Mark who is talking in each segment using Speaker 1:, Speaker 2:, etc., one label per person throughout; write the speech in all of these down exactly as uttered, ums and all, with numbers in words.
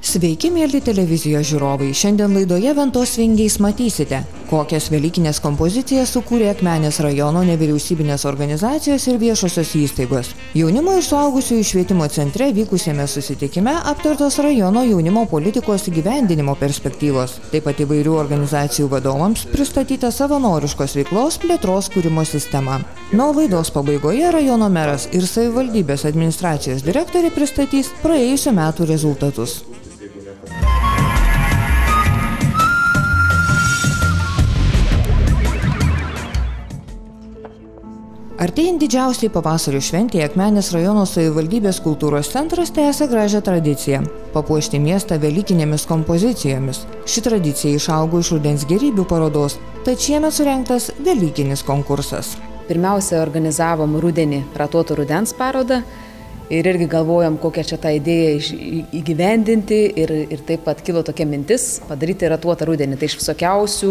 Speaker 1: Sveiki, mėly televizijos žiūrovai. Šiandien laidoje Ventos vingiais matysite, kokias velykinės kompozicijas sukūrė Akmenės rajono nevyriausybinės organizacijos ir viešosios įstaigos. Jaunimo ir suaugusiųjų švietimo centre vykusiame susitikime aptartos rajono jaunimo politikos įgyvendinimo perspektyvos. Taip pat įvairių organizacijų vadovams pristatyta savanoriškos veiklos plėtros kūrimo sistema. Nuo laidos pabaigoje rajono meras ir savivaldybės administracijos direktorė pristatys praėjusių metų rezultatus. Artėjant didžiausiai pavasario šventėje Akmenės rajono savivaldybės kultūros centras tęsia gražią tradiciją – papuošti miestą velykinėmis kompozicijomis. Ši tradicija išaugo iš rudens gėrybių parodos, tad šiemet surengtas velykinis konkursas.
Speaker 2: Pirmiausia, organizavom rudenį ratuoto rudens parodą ir irgi galvojom, kokią čia tą idėją įgyvendinti ir, ir taip pat kilo tokia mintis padaryti ratuotą rudenį. Tai iš visokiausių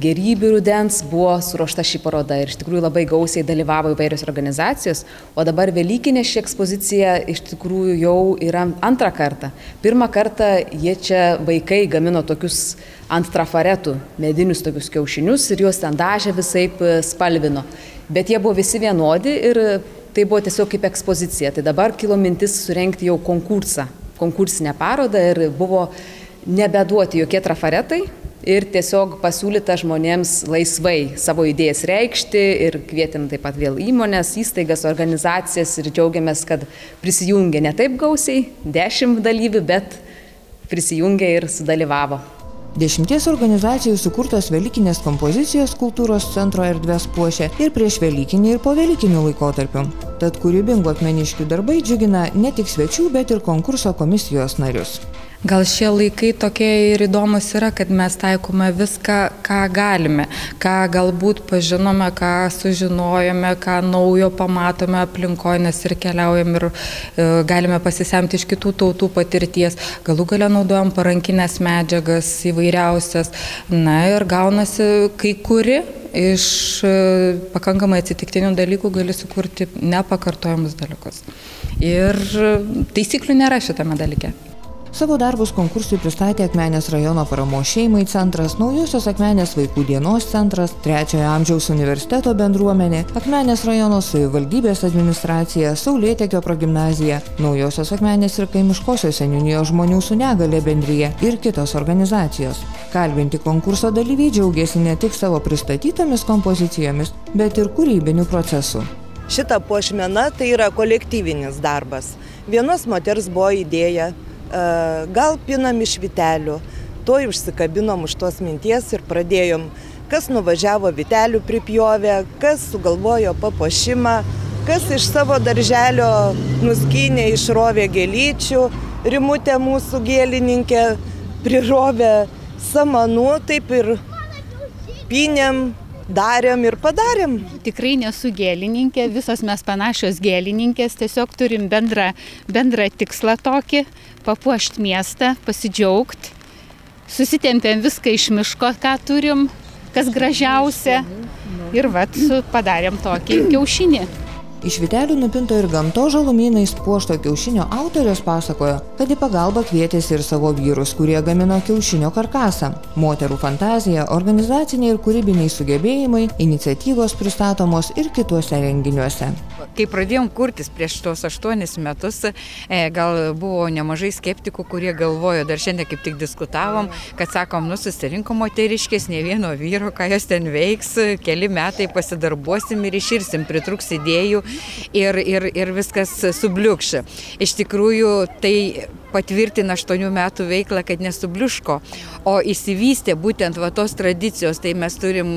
Speaker 2: gėrybių rudens buvo suruošta ši paroda ir iš tikrųjų labai gausiai dalyvavo įvairios organizacijos, o dabar velykinė ši ekspozicija iš tikrųjų jau yra antrą kartą. Pirmą kartą jie čia vaikai gamino tokius ant trafaretų medinius tokius kiaušinius ir juos ten dažė visaip spalvino, bet jie buvo visi vienodi ir tai buvo tiesiog kaip ekspozicija. Tai dabar kilo mintis surengti jau konkursą, konkursinę parodą ir buvo nebeduoti jokie trafaretai ir tiesiog pasiūlyta žmonėms laisvai savo idėjas reikšti ir kvietėm taip pat vėl įmonės, įstaigas, organizacijas ir džiaugiamės, kad prisijungė ne taip gausiai, dešimt dalyvių, bet prisijungė ir sudalyvavo.
Speaker 1: Dešimties organizacijų sukurtos velykinės kompozicijos kultūros centro erdves puošia ir prieš velykinį ir po velykinių laikotarpių. Tad kūrybingų akmeniškių darbai džiugina ne tik svečių, bet ir konkurso komisijos narius.
Speaker 3: Gal šie laikai tokie ir įdomus yra, kad mes taikome viską, ką galime, ką galbūt pažinome, ką sužinojome, ką naujo pamatome aplinkoje, nes ir keliaujam ir e, galime pasisemti iš kitų tautų patirties. Galų gale naudojam parankinės medžiagas įvairiausias, na ir gaunasi kai kuri iš e, pakankamai atsitiktinių dalykų gali sukurti nepakartojamus dalykus. Ir taisyklių nėra šitame dalyke.
Speaker 1: Savo darbus konkursui pristatė Akmenės rajono paramos šeimai centras, Naujosios Akmenės vaikų dienos centras, Trečiojo amžiaus universiteto bendruomenė, Akmenės rajono savivaldybės administracija, Saulėtekio progimnazija, Naujosios Akmenės ir kaimiškosios seniūnijos žmonių su negalia bendrija ir kitos organizacijos. Kalbinti konkurso dalyviai džiaugiasi ne tik savo pristatytomis kompozicijomis, bet ir kūrybiniu procesu.
Speaker 4: Šita puošmena tai yra kolektyvinis darbas. Vienos moters buvo idėja, gal pinam iš vitelių, to užsikabinom už tos minties ir pradėjom, kas nuvažiavo vitelių pripjovė, kas sugalvojo papuošimą, kas iš savo darželio nuskynė, išrovė gėlyčių, Rimutė mūsų gėlininkė prirovė samanų, taip ir pynėm, darėm ir padarėm.
Speaker 5: Tikrai nesu gėlininkė, visos mes panašios gėlininkės, tiesiog turim bendrą, bendrą tikslą tokį, papuošti miestą, pasidžiaugti, susitempėm viską iš miško, ką turim, kas gražiausia ir vat padarėm tokį kiaušinį.
Speaker 1: Iš vitelių nupinto ir gamtos žalumynais puošto kiaušinio autorės pasakojo, kad į pagalbą kvietėsi ir savo vyrus, kurie gamino kiaušinio karkasą. Moterų fantazija, organizaciniai ir kūrybiniai sugebėjimai, iniciatyvos pristatomos ir kituose renginiuose.
Speaker 6: Kai pradėjom kurtis prieš tos aštuonis metus, gal buvo nemažai skeptikų, kurie galvojo, dar šiandien kaip tik diskutavom, kad sakom, nu susirinkom moteriškės, ne vieno vyro, ką jos ten veiks, keli metai pasidarbuosim ir iširsim, pritruks idėjų ir, ir, ir viskas subliukš. Iš tikrųjų, tai patvirtina aštuonių metų veiklą, kad nesubliuško, o įsivystė būtent va tos tradicijos, tai mes turim,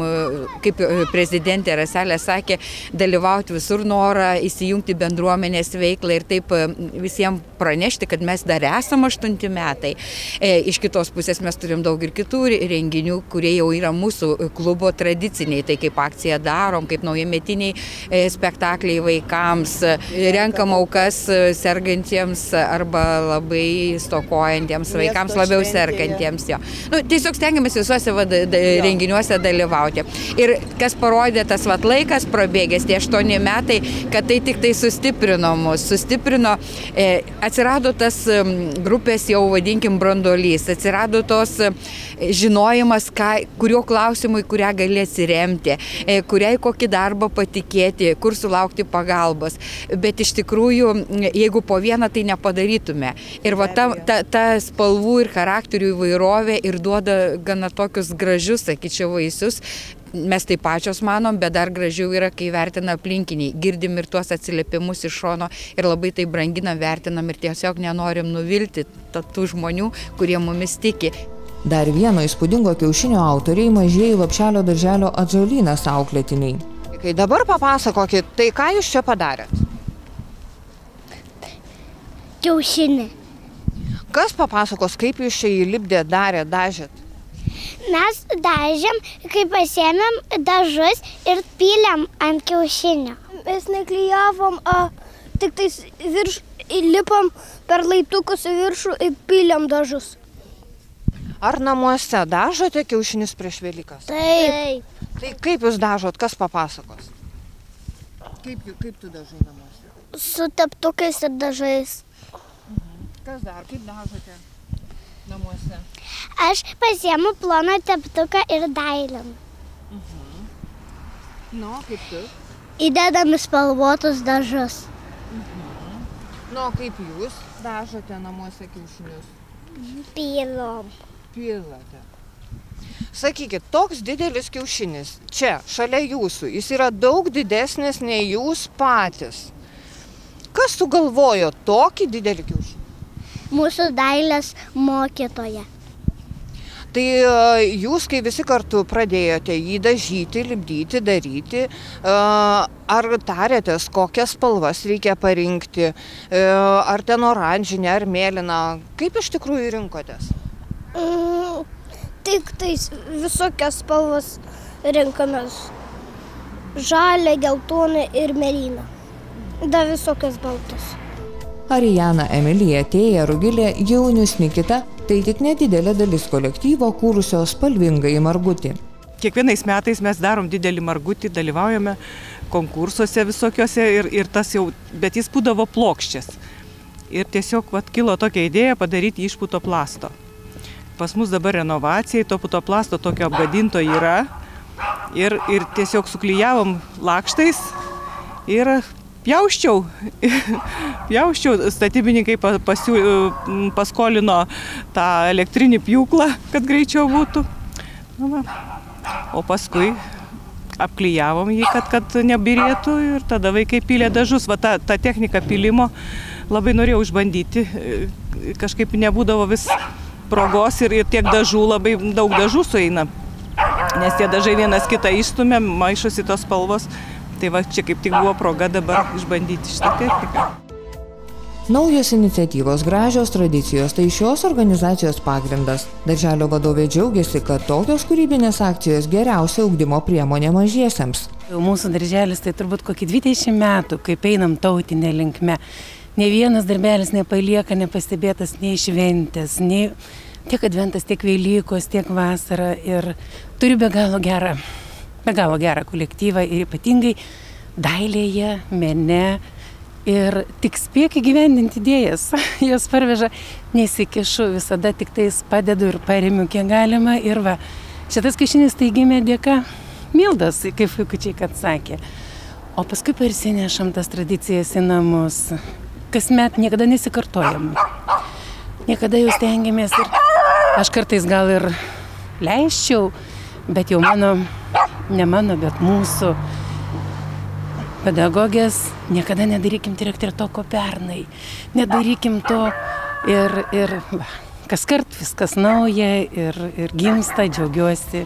Speaker 6: kaip prezidentė Raselė sakė, dalyvauti visur norą, įsijungti bendruomenės veiklą ir taip visiems pranešti, kad mes dar esam aštunti metai. E, iš kitos pusės mes turim daug ir kitų renginių, kurie jau yra mūsų klubo tradiciniai, tai kaip akcija darom, kaip naujametiniai e, spektakliai vaikams, renkam aukas sergantiems arba labai stokojantiems vaikams, labiau sergantiems. Jo. Nu, tiesiog stengiamės visuose va, da, renginiuose dalyvauti. Ir kas parodė tas vat, laikas prabėgęs, tie aštuoni metai, kad tai tik tai sustiprino mus, sustiprino, e, atsirado tas grupės jau vadinkim branduolys, atsirado tos žinojimas, ką, kurio klausimui, kurią gali atsiremti, kuriai kokį darbą patikėti, kur sulaukti pagalbos. Bet iš tikrųjų, jeigu po vieną, tai nepadarytume. Ir va ta, ta, ta spalvų ir charakterių įvairovė ir duoda gana tokius gražius, sakyčiau, vaisius. Mes tai pačios manom, bet dar gražiau yra, kai vertina aplinkiniai. Girdim ir tuos atsiliepimus iš šono ir labai tai branginam, vertinam ir tiesiog nenorim nuvilti tų žmonių, kurie mumis tiki.
Speaker 1: Dar vieno įspūdingo kiaušinio autoriai mažieji Lopšelio darželio Atžalynas auklėtiniai. Kai dabar papasakokit, tai ką jūs čia padarėt?
Speaker 7: Kiaušinį.
Speaker 1: Kas papasakos, kaip jūs čia įlipdėt, darėt, dažėt?
Speaker 7: Mes dažėm, kai pasiėmėm dažus ir pylėm ant kiaušinio. Mes neklijavom, a, tik tais virš, įlipom per laiptukus į viršų ir pylėm dažus.
Speaker 1: Ar namuose dažote kiaušinius prieš Velykas?
Speaker 7: Taip.
Speaker 1: Tai kaip jūs dažot, kas papasakos? Kaip, kaip tu dažai namuose?
Speaker 7: Su teptukais ir dažais.
Speaker 1: Mhm. Kas dar, kaip dažote namuose?
Speaker 7: Aš pasiemu ploną teptuką ir dailinu.
Speaker 1: Mhm. Nu, kaip tu?
Speaker 7: Įdedam į spalvotus dažus.
Speaker 1: Mhm. Nu, kaip jūs dažote namuose kiaušinius?
Speaker 7: Pylom.
Speaker 1: Pilate. Sakykit, toks didelis kiaušinis, čia, šalia jūsų, jis yra daug didesnis nei jūs patys. Kas sugalvojo tokį didelį kiaušinį?
Speaker 7: Mūsų dailės mokytoja.
Speaker 1: Tai jūs, kai visi kartu pradėjote jį dažyti, lipdyti, daryti, ar tarėtės, kokias spalvas reikia parinkti, ar ten oranžinė, ar mėlyna, kaip iš tikrųjų rinkotės?
Speaker 7: Mm, tik tais visokias spalvas rinkamės. Žalia, geltona ir mėlyna. Da visokias baltas.
Speaker 1: Arijana, Emilija, Tėja, Rugilė, Jaunius, Nikita – tai tik nedidelė dalis kolektyvo kūrusio spalvingąjį margutį.
Speaker 8: Kiekvienais metais mes darom didelį margutį, dalyvaujame konkursuose visokiuose ir, ir tas jau, bet jis būdavo plokščias. Ir tiesiog vat, kilo tokia idėja padaryti iš putoplasto. Pas mus dabar renovacijai, to putoplasto tokio apgadinto yra ir, ir tiesiog suklijavom lakštais ir pjausčiau, pjausčiau, statybininkai pasiū, paskolino tą elektrinį pjūklą, kad greičiau būtų. Na, o paskui apklijavom jį, kad, kad nebirėtų ir tada vaikai pylė dažus. Va, ta, ta technika pylimo labai norėjau išbandyti, kažkaip nebūdavo vis progos ir, ir tiek dažų, labai daug dažų sueina, nes tie dažai vienas kitą išstumia, maišosi tos spalvos. Tai va, čia kaip tik buvo proga dabar išbandyti šitą techniką.
Speaker 1: Naujos iniciatyvos, gražios tradicijos – tai šios organizacijos pagrindas. Darželio vadovė džiaugiasi, kad tokios kūrybinės akcijos geriausia ugdymo priemonė mažiesiems.
Speaker 9: Mūsų darželis tai turbūt kokį dvidešimt metų, kaip einam tautinė linkme. Ne vienas darbelis nepalieka nepastebėtas nei šventės, nei tiek adventas, tiek Velykos, tiek vasara. Ir turi be galo gerą. be galo gerą kolektyvą ir ypatingai dailėje, mene ir tik spėk įgyvendinti idėjas. Jos parveža, nesikišu, visada tik tais padedu ir paremiu kiek galima. Ir va, šitas kiaušinis tai gimė dėka Mildos, kaip vaikučiai kad sakė. O paskui parsinešam tas tradicijas į namus. Kasmet niekada nesikartojam. Niekada jau stengiamės ir aš kartais gal ir leisčiau, bet jau mano ne mano, bet mūsų pedagogės, niekada nedarykim direktorė to, ko pernai. Nedarykim to ir, ir va, kas kart viskas nauja ir, ir gimsta, džiaugiuosi.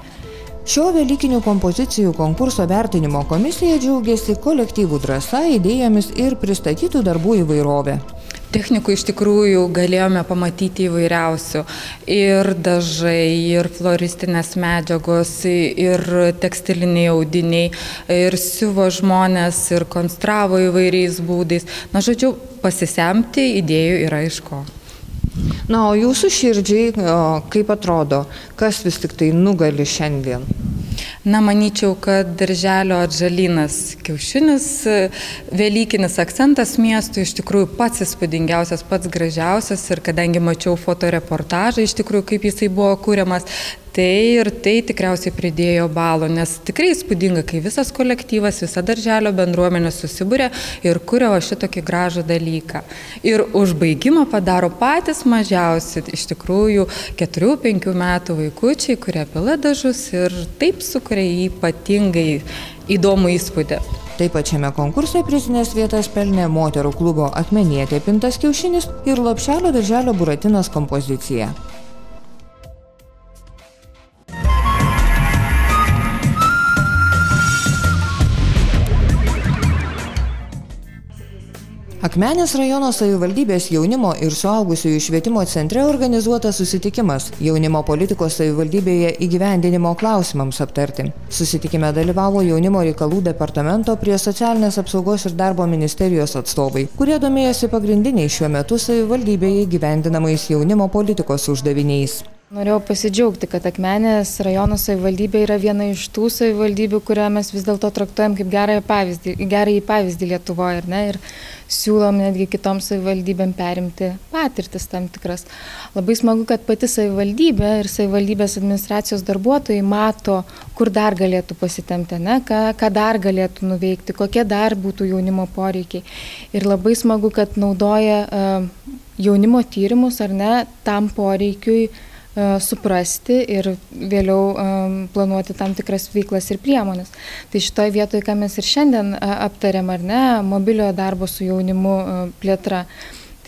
Speaker 1: Šio velykinių kompozicijų konkurso vertinimo komisija džiaugiasi kolektyvų drąsa, idėjomis ir pristatytų darbų įvairovė.
Speaker 3: Technikų iš tikrųjų galėjome pamatyti įvairiausių. Ir dažai, ir floristinės medžiagos, ir tekstiliniai audiniai, ir siuvo žmonės, ir konstravo įvairiais būdais. Na, žodžiu, pasisemti idėjų yra iš ko.
Speaker 1: Na, o jūsų širdžiai, kaip atrodo, kas vis tik tai nugali šiandien?
Speaker 3: Na, manyčiau, kad darželio atžalynas kiaušinis, velykinis akcentas miestui iš tikrųjų pats įspūdingiausias, pats gražiausias ir kadangi mačiau fotoreportažą iš tikrųjų, kaip jisai buvo kūriamas, tai ir tai tikriausiai pridėjo balų, nes tikrai įspūdinga, kai visas kolektyvas, visa darželio bendruomenė susibūrė ir kuria šitokį gražų dalyką. Ir užbaigimą padaro patys mažiausi, iš tikrųjų, keturių penkių metų vaikučiai, kurie pila dažus ir taip sukuria ypatingai įdomų įspūdį.
Speaker 1: Taip pat šiame konkurse prizinės vietas pelnė moterų klubo Akmenietė pintas kiaušinis ir Lopšelio darželio buratinas kompozicija. Akmenės rajono savivaldybės jaunimo ir suaugusiųjų švietimo centre organizuotas susitikimas jaunimo politikos savivaldybėje įgyvendinimo klausimams aptarti. Susitikime dalyvavo jaunimo reikalų departamento prie socialinės apsaugos ir darbo ministerijos atstovai, kurie domėjosi pagrindiniais šiuo metu savivaldybėje įgyvendinamais jaunimo politikos uždaviniais.
Speaker 10: Norėjau pasidžiaugti, kad Akmenės rajono savivaldybė yra viena iš tų savivaldybių, kurią mes vis dėlto traktuojam kaip gerąjį pavyzdį, gerąjį pavyzdį Lietuvoje, ar ne, ir siūlom netgi kitoms savivaldybėm perimti patirtis tam tikras. Labai smagu, kad pati savivaldybė ir savivaldybės administracijos darbuotojai mato, kur dar galėtų pasitempti, ne, ką, ką dar galėtų nuveikti, kokie dar būtų jaunimo poreikiai. Ir labai smagu, kad naudoja uh, jaunimo tyrimus, ar ne, tam poreikiui suprasti ir vėliau um, planuoti tam tikras veiklas ir priemonės. Tai šitoje vietoje, ką mes ir šiandien uh, aptarėm, ar ne, mobiliojo darbo su jaunimu uh, plėtra,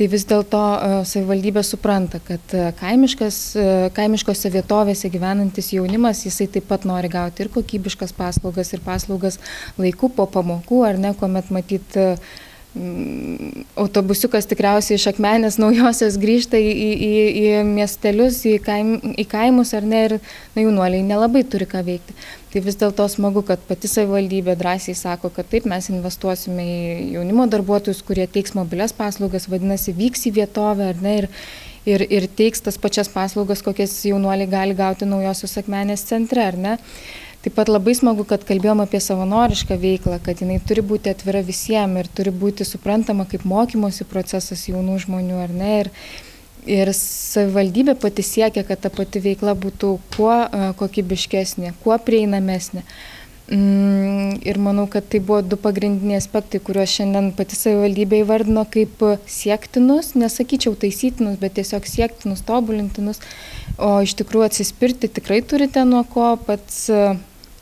Speaker 10: tai vis dėlto uh, savivaldybė supranta, kad uh, kaimiškas, uh, kaimiškose vietovėse gyvenantis jaunimas, jisai taip pat nori gauti ir kokybiškas paslaugas, ir paslaugas laiku po pamokų, ar ne, kuomet matyt uh, autobusiukas tikriausiai iš Akmenės naujosios grįžta į, į, į miestelius, į, kaim, į kaimus, ar ne, ir na, jaunuoliai nelabai turi ką veikti. Tai vis dėlto smagu, kad pati savivaldybė drąsiai sako, kad taip mes investuosime į jaunimo darbuotojus, kurie teiks mobilias paslaugas, vadinasi, vyks į vietovę, ar ne, ir, ir, ir teiks tas pačias paslaugas, kokias jaunuoliai gali gauti naujosios Akmenės centre, ar ne. Taip pat labai smagu, kad kalbėjom apie savanorišką veiklą, kad jinai turi būti atvira visiems ir turi būti suprantama kaip mokymosi procesas jaunų žmonių, ar ne. Ir, ir savivaldybė pati siekia, kad ta pati veikla būtų kuo uh, kokybiškesnė, kuo prieinamesnė. Mm, ir manau, kad tai buvo du pagrindiniai aspektai, kuriuos šiandien pati savivaldybė įvardino kaip siektinus, nesakyčiau taisytinus, bet tiesiog siektinus, tobulintinus. O iš tikrųjų atsispirti tikrai turite nuo ko, pats,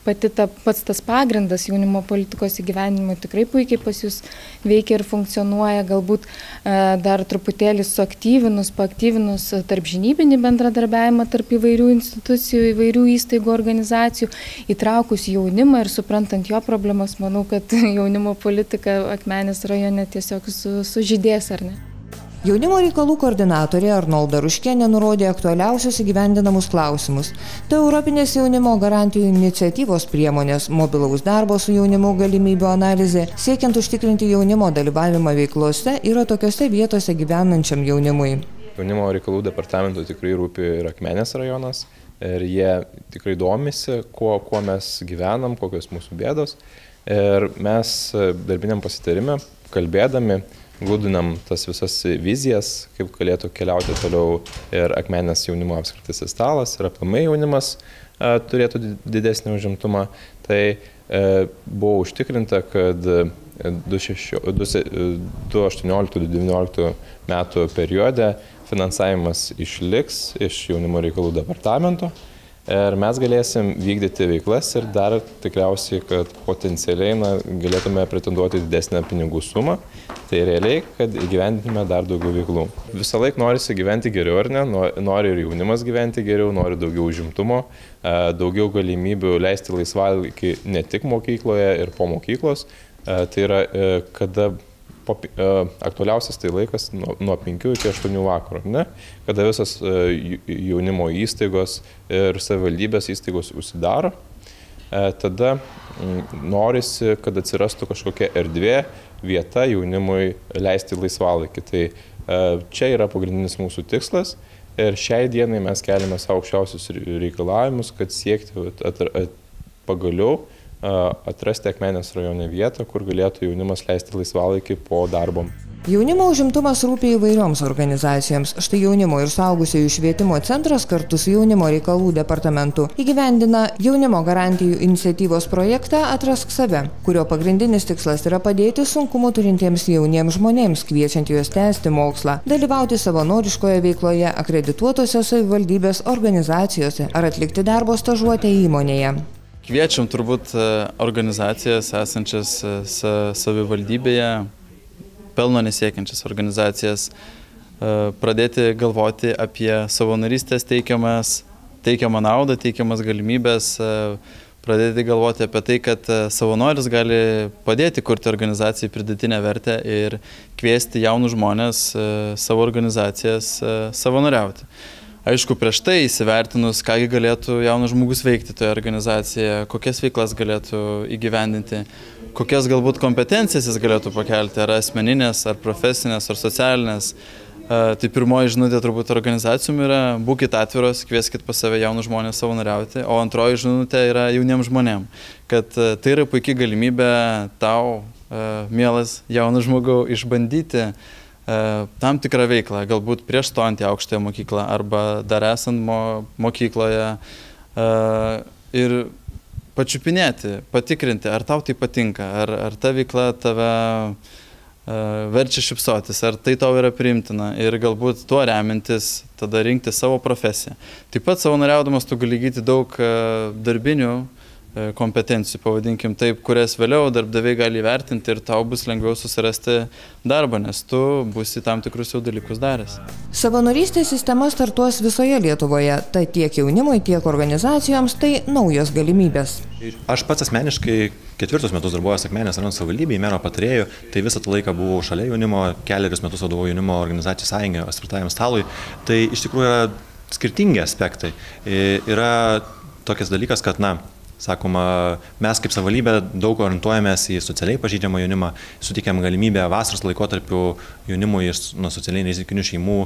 Speaker 10: pati ta, pats tas pagrindas jaunimo politikos įgyvendinimo tikrai puikiai pas jūs veikia ir funkcionuoja, galbūt dar truputėlį suaktyvinus, paaktyvinus tarp žinybinį bendradarbiavimą tarp įvairių institucijų, įvairių įstaigų, organizacijų, įtraukus jaunimą ir suprantant jo problemas, manau, kad jaunimo politika Akmenės rajone tiesiog su, sužydės, ar ne?
Speaker 1: Jaunimo reikalų koordinatorė Arnolda Ruškienė nurodė aktualiausius įgyvendinamus klausimus. Tai Europinės jaunimo garantijų iniciatyvos priemonės, mobilaus darbo su jaunimu galimybių analizė, siekiant užtikrinti jaunimo dalyvavimą veiklose yra tokiose vietose gyvenančiam jaunimui.
Speaker 11: Jaunimo reikalų departamento tikrai rūpi ir Akmenės rajonas ir jie tikrai domisi, kuo, kuo mes gyvenam, kokios mūsų bėdos. Ir mes darbiniam pasitarime, kalbėdami, glūdinam tas visas vizijas, kaip galėtų keliauti toliau ir Akmenės jaunimo apskritasis stalas, ir aplamai jaunimas e, turėtų didesnį užimtumą. Tai e, buvo užtikrinta, kad du tūkstančiai aštuonioliktų - du tūkstančiai devynioliktų metų periode finansavimas išliks iš jaunimo reikalų departamento. Ir mes galėsim vykdyti veiklas ir dar tikriausiai, kad potencialiai na, galėtume pretenduoti didesnę pinigų sumą. Tai realiai, kad įgyvendintume dar daugiau veiklų. Visą laiką norisi gyventi geriau, ar ne? Nori ir jaunimas gyventi geriau, nori daugiau užimtumo, daugiau galimybių leisti laisvalaikį ne tik mokykloje ir po mokyklos. Tai yra, kada po, aktualiausias tai laikas nuo, nuo penkių iki aštuonių vakaro, ne? Kada visas jaunimo įstaigos ir savivaldybės įstaigos užsidaro, tada norisi, kad atsirastų kažkokia erdvė, vieta jaunimui leisti laisvalaikį. Tai čia yra pagrindinis mūsų tikslas ir šiai dienai mes keliame savo aukščiausius reikalavimus, kad siekti at, at, pagaliau atrasti Akmenės rajone vietą, kur galėtų jaunimas leisti laisvalaikį po darbo.
Speaker 1: Jaunimo užimtumas rūpi įvairioms organizacijoms. Štai Jaunimo ir suaugusiųjų švietimo centras kartu su Jaunimo reikalų departamentu įgyvendina Jaunimo garantijų iniciatyvos projektą Atrask save, kurio pagrindinis tikslas yra padėti sunkumų turintiems jauniems žmonėms, kviečiant juos tęsti mokslą, dalyvauti savanoriškoje veikloje akredituotose savivaldybės organizacijose ar atlikti darbo stažuotę įmonėje.
Speaker 12: Kviečiam turbūt organizacijas esančias savivaldybėje, pelno nesiekiančias organizacijas, pradėti galvoti apie savanorystės teikiamas, teikiamą naudą, teikiamas galimybės, pradėti galvoti apie tai, kad savanoris gali padėti kurti organizacijai pridėtinę vertę ir kviesti jaunus žmonės savo organizacijas savanoriauti. Aišku, prieš tai įsivertinus, kągi galėtų jaunas žmogus veikti toje organizacijoje, kokias veiklas galėtų įgyvendinti, kokias galbūt kompetencijas jis galėtų pakelti, ar asmeninės, ar profesinės, ar socialinės. Tai pirmoji žinutė turbūt organizacijom yra būkit atviros, kvieskit pas save jaunus žmonės savanoriauti, o antroji žinutė yra jauniems žmonėm, kad tai yra puikia galimybė tau, mielas jaunas žmogau, išbandyti tam tikrą veiklą, galbūt prieš stojant į aukštąją mokyklą arba dar esant mo, mokykloje ir pačiupinėti, patikrinti, ar tau tai patinka, ar, ar ta veikla tave verčia šypsotis, ar tai tau yra priimtina ir galbūt tuo remintis tada rinkti savo profesiją. Taip pat savanoriaudamas tu gali įgyti daug darbinių kompetencijų, pavadinkim taip, kurias vėliau darbdaviai gali įvertinti ir tau bus lengviau susirasti darbą, nes tu būsi tam tikrus jau dalykus daręs.
Speaker 1: Savanorystės sistema startuos visoje Lietuvoje, tai tiek jaunimui, tiek organizacijoms tai naujos galimybės.
Speaker 13: Aš pats asmeniškai ketvirtus metus darbuojuosi Akmenės rajono savivaldybėje, mero patarėju, tai visą tą laiką buvau šalia jaunimo, kelerius metus vadovau jaunimo organizacijų sąjungai, atvirtajam stalui. Tai iš tikrųjų yra skirtingi aspektai. Yra tokias dalykas, kad, na, sakoma, mes kaip savivaldybė daug orientuojamės į socialiai pažeidžiamą jaunimą, suteikiam galimybę vasaros laikotarpiu jaunimui iš nuo socialiai nerizikinių šeimų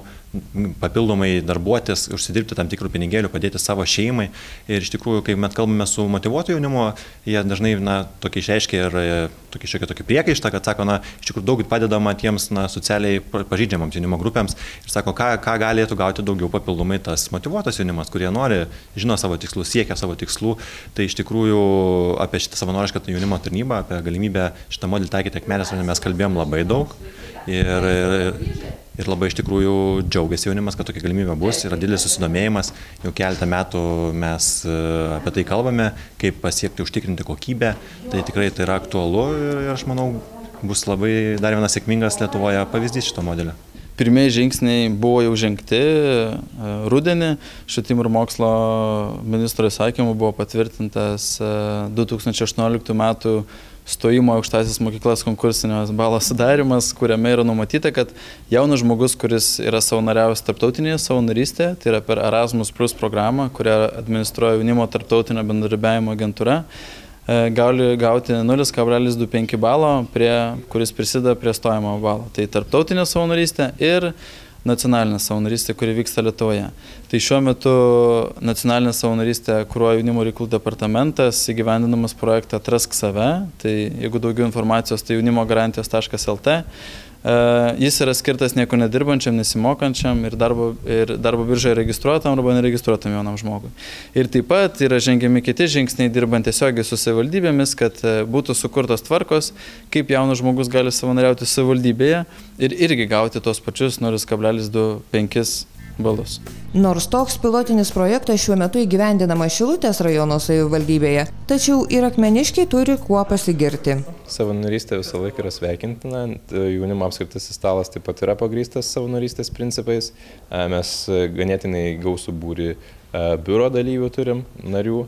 Speaker 13: papildomai darbuotis, užsidirbti tam tikrų pinigėlių, padėti savo šeimai. Ir iš tikrųjų, kai mes kalbame su motyvuotu jaunimu, jie dažnai, na, tokį išreiškia ir tokį šiokį tokį priekaištą, kad sako, na, iš tikrųjų daug padedama tiems, na, socialiai pažeidžiamams jaunimo grupėms ir sako, ką, ką galėtų gauti daugiau papildomai tas motyvuotas jaunimas, kurie nori, žino savo tikslus, siekia savo tikslų. Tai iš tikrųjų apie šitą savanorišką jaunimo tarnybą, apie galimybę šitą modelį taikyti Akmenės rajone mes kalbėjom labai daug ir, ir, ir labai iš tikrųjų džiaugiasi jaunimas, kad tokia galimybė bus, yra didelis susidomėjimas, jau keletą metų mes apie tai kalbame, kaip pasiekti užtikrinti kokybę, tai tikrai tai yra aktualu ir aš manau bus labai dar vienas sėkmingas Lietuvoje pavyzdys šito modelio.
Speaker 12: Pirmieji žingsniai buvo jau žengti rudenį. Švietimo ir mokslo ministro įsakymu buvo patvirtintas du tūkstančiai aštuonioliktų metų stojimo į aukštąsias mokyklas konkursinės balo sudarimas, kuriame yra numatyta, kad jaunas žmogus, kuris yra savanoriavęs tarptautinėje savanorystėje, tai yra per Erasmus Plus programą, kurią administruoja jaunimo tarptautinio bendradarbiavimo agentūra, gali gauti nulis kablelis du penki balo, prie, kuris prisideda prie stojimo balo. Tai tarptautinė savanorystė ir nacionalinė savanorystė, kuri vyksta Lietuvoje. Tai šiuo metu nacionalinė savanorystė kuruoja jaunimo reikalų departamentas, įgyvendinamas projektą Atrask save. Tai jeigu daugiau informacijos, tai jaunimo garantijos taškas el te. Jis yra skirtas nieko nedirbančiam, nesimokančiam ir darbo, ir darbo biržoje registruotam arba neregistruotam jaunam žmogui. Ir taip pat yra žengiami kiti žingsniai dirbant tiesiogiai su savivaldybėmis, kad būtų sukurtos tvarkos, kaip jaunas žmogus gali savanoriauti savivaldybėje ir irgi gauti tos pačius nulis kablelis du penki balus.
Speaker 1: Nors toks pilotinis projektas šiuo metu įgyvendinamas Šilutės rajono savivaldybėje, tačiau ir akmeniškiai turi kuo pasigirti.
Speaker 11: Savanorystė visą laiką yra sveikintina, jaunimo apskritasis stalas taip pat yra pagrįstas savanorystės principais. Mes ganėtinai gausų būrį biuro dalyvių turim, narių.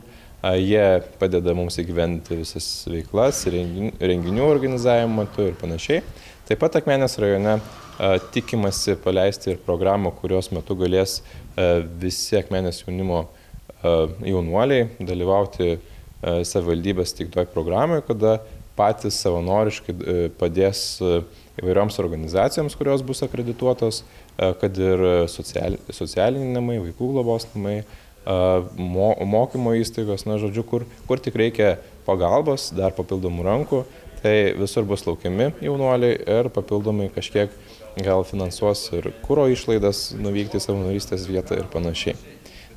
Speaker 11: Jie padeda mums įgyvendinti visas veiklas, renginių organizavimo metu ir panašiai. Taip pat Akmenės rajone tikimasi paleisti ir programą, kurios metu galės visi Akmenės jaunimo jaunuoliai dalyvauti savivaldybės teiktoje programoje, kada patys savanoriškai padės įvairioms organizacijoms, kurios bus akredituotos, kad ir socialiniai namai, vaikų globos namai, mokymo įstaigos, na, žodžiu, kur, kur tik reikia pagalbos, dar papildomų rankų, tai visur bus laukiami jaunuoliai ir papildomai kažkiek gal finansuos ir kuro išlaidas nuvykti į savanorystės vietą ir panašiai.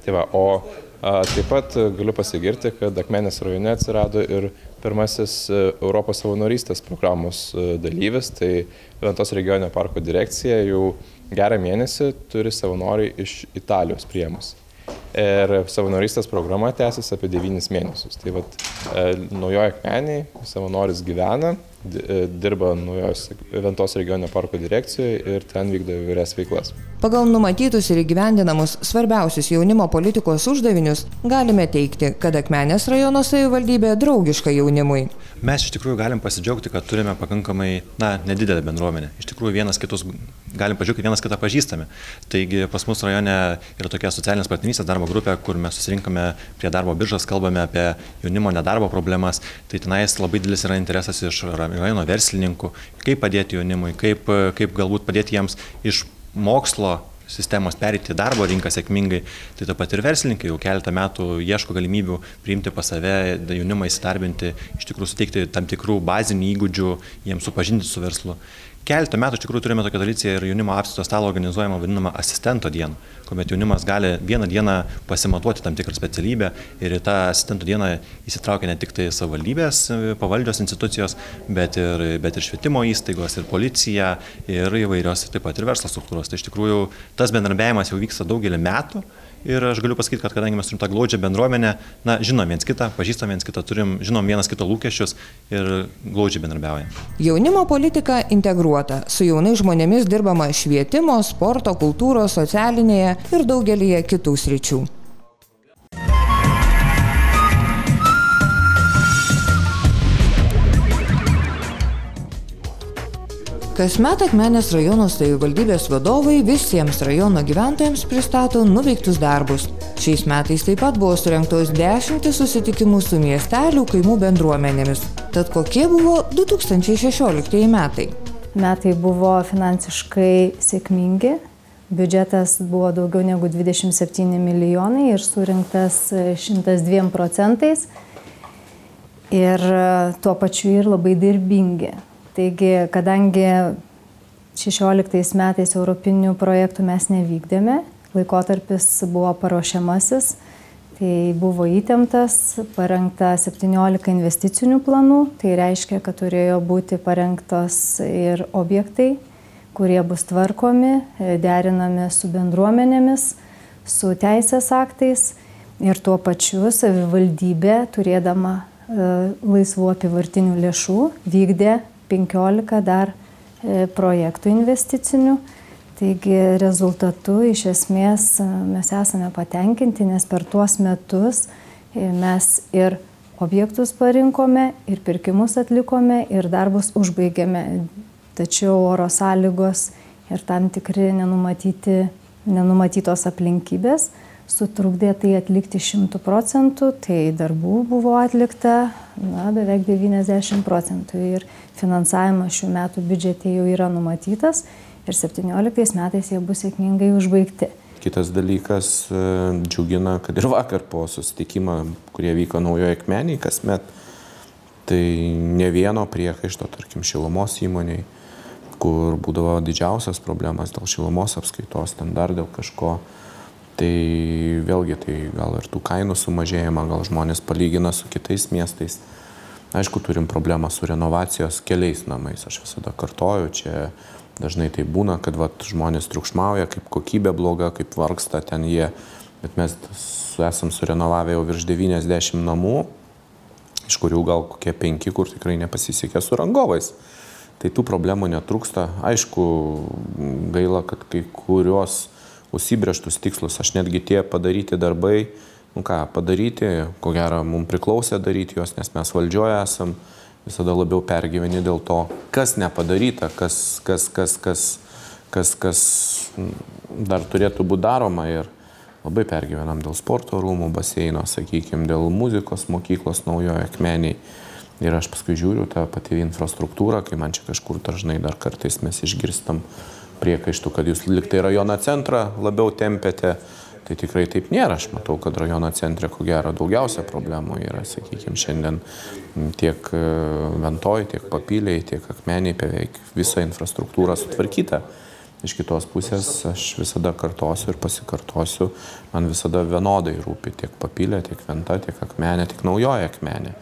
Speaker 11: Tai va, o a, taip pat galiu pasigirti, kad Akmenės rajone atsirado ir pirmasis Europos savanorystės programos dalyvis, tai Ventos regioninio parko direkcija jau gerą mėnesį turi savanoriai iš Italijos priėmus. Ir savanorystės programa tęsis apie devynis mėnesius. Tai vat, naujoje Akmenėje savanoris gyvena, dirba naujos Ventos regioninio parko direkcijoje ir ten vykdo įvairias veiklas.
Speaker 1: Pagal numatytus ir įgyvendinamus svarbiausius jaunimo politikos uždavinius galime teikti, kad Akmenės rajono savivaldybė draugiška jaunimui.
Speaker 13: Mes iš tikrųjų galim pasidžiaugti, kad turime pakankamai, na, nedidelę bendruomenę. Iš tikrųjų vienas kitus galim pažiūrėti, vienas kitą pažįstame. Taigi pas mus rajone yra tokia socialinės partnerystės darbo grupė, kur mes susirinkame prie darbo biržos, kalbame apie jaunimo nedarbo problemas. Tai tenais labai didelis yra interesas iš rajono verslininkų, kaip padėti jaunimui, kaip, kaip galbūt padėti jiems iš mokslo sistemos perėti į darbo rinką sėkmingai. Tai taip pat ir verslininkai jau keletą metų ieško galimybių priimti pas save, jaunimą įsidarbinti, iš tikrųjų suteikti tam tikrų bazinių įgūdžių, jiems supažinti su verslu. Keletą metų iš tikrųjų turime tokią tradiciją ir jaunimo apskrito stalo organizuojama vadinama asistento diena, kuomet jaunimas gali vieną dieną pasimatuoti tam tikrą specialybę ir į tą asistento dieną įsitraukia ne tik tai savivaldybės pavaldžios institucijos, bet ir, bet ir švietimo įstaigos, ir policija, ir įvairios taip pat ir verslo struktūros. Tai iš tikrųjų tas bendradarbiavimas jau vyksta daugelį metų. Ir aš galiu pasakyti, kad kadangi mes turim tą glaudžią bendruomenę, na, žinom viens kitą, pažįstam viens kitą, turim, žinom vienas kito lūkesčius ir glaudžiai bendradarbiaujam.
Speaker 1: Jaunimo politika integruota. Su jaunais žmonėmis dirbama švietimo, sporto, kultūros, socialinėje ir daugelyje kitų sričių. Kasmet Akmenės rajono savivaldybės vadovai visiems rajono gyventojams pristato nuveiktus darbus. Šiais metais taip pat buvo surengtos dešimtys susitikimų su miestelių kaimų bendruomenėmis. Tad kokie buvo du tūkstančiai šešioliktieji metai?
Speaker 14: Metai buvo finansiškai sėkmingi. Biudžetas buvo daugiau negu dvidešimt septyni milijonai ir surinktas šimtas dviem procentais. Ir tuo pačiu ir labai darbingi. Taigi, kadangi šešioliktais metais europinių projektų mes nevykdėme, laikotarpis buvo paruošiamasis, tai buvo įtemptas, parengta septyniolika investicinių planų, tai reiškia, kad turėjo būti parengtos ir objektai, kurie bus tvarkomi, derinami su bendruomenėmis, su teisės aktais ir tuo pačiu savivaldybė, turėdama laisvų apyvartinių lėšų, vykdė penkiolika dar projektų investicinių. Taigi rezultatu iš esmės mes esame patenkinti, nes per tuos metus mes ir objektus parinkome, ir pirkimus atlikome, ir darbus užbaigėme. Tačiau oro sąlygos ir tam tikri nenumatyti, nenumatytos aplinkybės sutrukdė tai atlikti šimtų procentų, tai darbų buvo atlikta na, beveik devyniasdešimt procentų ir finansavimas šių metų biudžete jau yra numatytas ir septynioliktais metais jie bus sėkmingai užbaigti.
Speaker 15: Kitas dalykas džiugina, kad ir vakar po susitikimą, kurie vyko Naujoje Akmenėje kasmet, tai ne vieno priekaišto, tarkim, šilumos įmoniai, kur būdavo didžiausias problemas dėl šilumos apskaitos, ten dar dėl kažko. Tai vėlgi, tai gal ir tų kainų sumažėjimą, gal žmonės palygina su kitais miestais. Aišku, turim problemą su renovacijos keliais namais. Aš visada kartoju, čia dažnai tai būna, kad vat, žmonės triukšmauja, kaip kokybė bloga, kaip vargsta ten jie. Bet mes esam surenovavę jau virš devyniasdešimt namų, iš kurių gal kokie penki, kur tikrai nepasisekė su rangovais. Tai tų problemų netrūksta. Aišku, gaila, kad kai kurios užsibrėžtus tikslus, aš netgi tie padaryti darbai, nu ką, padaryti, ko gero, mums priklausė daryti juos, nes mes valdžioje esam, visada labiau pergyveni dėl to, kas nepadaryta, kas, kas, kas, kas, kas, kas dar turėtų būti daroma. Ir labai pergyvenam dėl sporto rūmų, baseino, sakykime, dėl muzikos mokyklos naujoje Akmenėje. Ir aš paskui žiūriu tą patį infrastruktūrą, kai man čia kažkur dažnai dar kartais mes išgirstam priekaištų, kad jūs liktai rajono centrą labiau tempėte. Tai tikrai taip nėra. Aš matau, kad rajono centre, ko gero, daugiausia problemų yra, sakykime, šiandien tiek Ventoj, tiek Papilėj, tiek Akmenėj beveik visa infrastruktūra sutvarkyta. Iš kitos pusės aš visada kartosiu ir pasikartosiu, man visada vienodai rūpi tiek Papilė, tiek Venta, tiek Akmenė, tiek Naujoji Akmenė.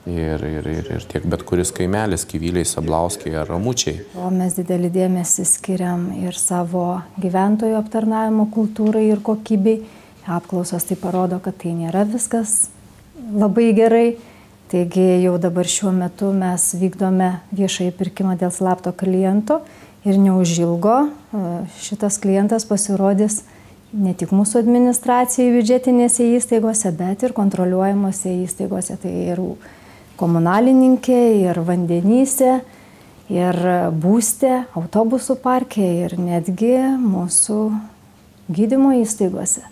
Speaker 15: Ir, ir, ir, ir tiek bet kuris kaimelis, Kyvyliai, Sablauskiai ar Ramučiai.
Speaker 14: O mes didelį dėmesį skiriam ir savo gyventojų aptarnavimo kultūrai ir kokybei. Apklausos tai parodo, kad tai nėra viskas labai gerai. Taigi jau dabar šiuo metu mes vykdome viešąjį pirkimą dėl slapto kliento ir neužilgo šitas klientas pasirodys ne tik mūsų administracijai biudžetinėse įstaigose, bet ir kontroliuojamose įstaigose. Tai ir komunalininkė, ir vandenyse, ir būste, autobusų parke, ir netgi mūsų gydymo įstaigose.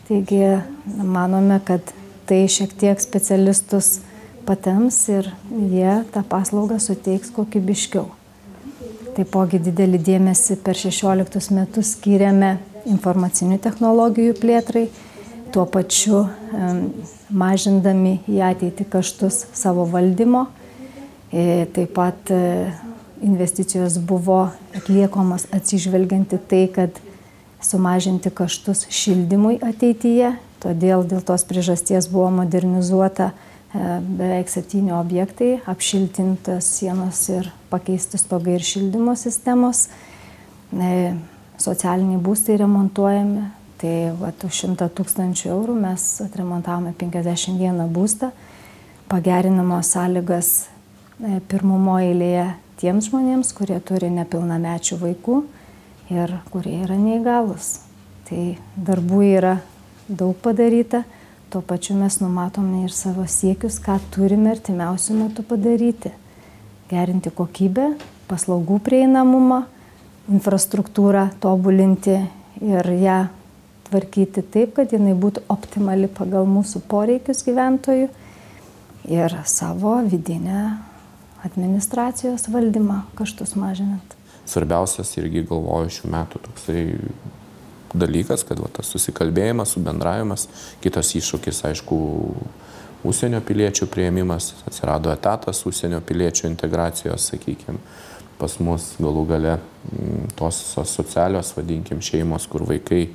Speaker 14: Taigi manome, kad tai šiek tiek specialistus patems ir jie tą paslaugą suteiks kokybiškiau. Taipogi didelį dėmesį per šešioliktus metus skyrėme informacinių technologijų plėtrai, tuo pačiu mažindami į ateitį kaštus savo valdymo. Taip pat investicijos buvo atliekamos atsižvelgianti tai, kad sumažinti kaštus šildymui ateityje. Todėl dėl tos priežasties buvo modernizuota beveik septyni objektai, apšiltintas sienos ir pakeisti stogai ir šildymo sistemos. Socialiniai būstai remontuojami. Tai vat, už šimtą tūkstančių eurų mes atremontavome penkiasdešimt vieną būstą, pagerinamos sąlygas pirmumo eilėje tiems žmonėms, kurie turi nepilnamečių vaikų ir kurie yra neįgalūs. Tai darbų yra daug padaryta, tuo pačiu mes numatome ir savo siekius, ką turime artimiausiu metu padaryti. Gerinti kokybę, paslaugų prieinamumą, infrastruktūrą tobulinti ir ją tvarkyti taip, kad jinai būtų optimali pagal mūsų poreikius gyventojų ir savo vidinę administracijos valdymą kaštus mažinant.
Speaker 15: Svarbiausias irgi galvoju šių metų toksai dalykas, kad va, tas susikalbėjimas, subendravimas, kitas iššūkis, aišku, užsienio piliečių priėmimas, atsirado etatas užsienio piliečių integracijos, sakykime, pas mus galų gale tos socialios, vadinkim, šeimos, kur vaikai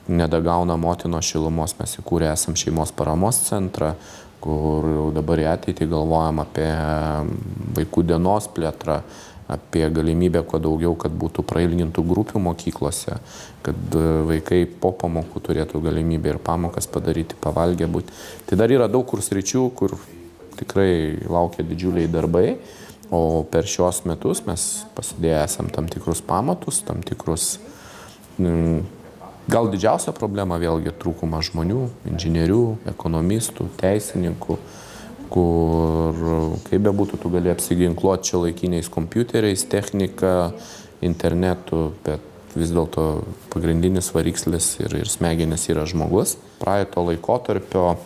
Speaker 15: nedagauna motinos šilumos, mes įkūrę esam šeimos paramos centrą, kur dabar į ateitį galvojam apie vaikų dienos plėtrą, apie galimybę kuo daugiau, kad būtų prailgintų grupių mokyklose, kad vaikai po pamokų turėtų galimybę ir pamokas padaryti, pavalgę būti. Tai dar yra daug kur sričių, kur tikrai laukia didžiuliai darbai, o per šios metus mes pasidėję esam tam tikrus pamatus, tam tikrus mm, gal didžiausia problema vėlgi trūkumas žmonių, inžinierių, ekonomistų, teisininkų, kur kaip bebūtų, tu gali apsiginkluoti čia laikiniais kompiuteriais, technika, internetu, bet vis dėlto pagrindinis varikslis ir, ir smegenis yra žmogus. Praeito laikotarpio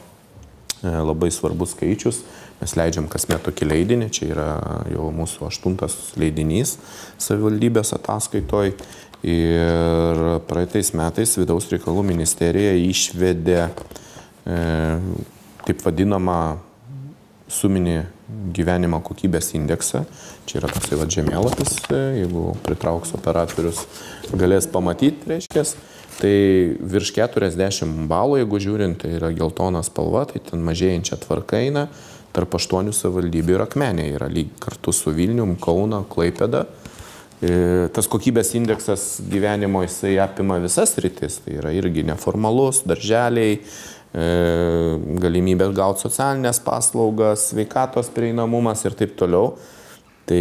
Speaker 15: labai svarbus skaičius. Mes leidžiam kasmet tokį leidinį, čia yra jau mūsų aštuntas leidinys savivaldybės ataskaitoj. Ir praeitais metais Vidaus reikalų ministerija išvedė e, taip vadinamą suminį gyvenimo kokybės indeksą. Čia yra toksai va žemėlapis, jeigu pritrauks operatorius, galės pamatyti, reiškės. Tai virš keturiasdešimt balų, jeigu žiūrint, tai yra geltona spalva, tai ten mažėjančia tvarka eina. Tarp aštuonių savivaldybių ir Akmenė yra lyg kartu su Vilnium, Kauna, Klaipėda. Tas kokybės indeksas gyvenimo jisai apima visas rytis, tai yra irgi neformalus, darželiai, galimybė gauti socialinės paslaugas, sveikatos prieinamumas ir taip toliau. Tai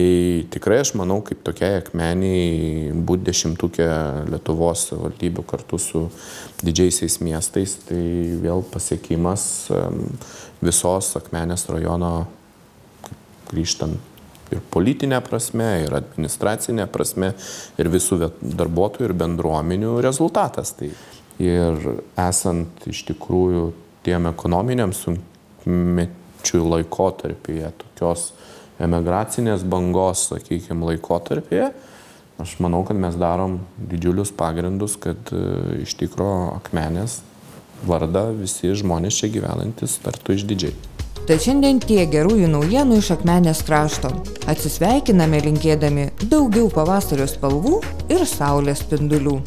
Speaker 15: tikrai aš manau, kaip tokiai Akmeniai būti dešimtukė Lietuvos valdybių kartu su didžiaisiais miestais, tai vėl pasiekimas visos Akmenės rajono grįžtant ir politinė prasme, ir administracinė prasme, ir visų darbuotojų ir bendruomenių rezultatas. Tai ir esant iš tikrųjų tiem ekonominiam sunkmečių laikotarpyje, tokios emigracinės bangos, sakykime, laikotarpyje, aš manau, kad mes darom didžiulius pagrindus, kad iš tikrųjų Akmenės vardą visi žmonės čia gyvenantis tartų išdidžiai.
Speaker 1: Tai šiandien tie gerųjų naujienų iš Akmenės krašto. Atsisveikiname linkėdami daugiau pavasario spalvų ir saulės spindulių.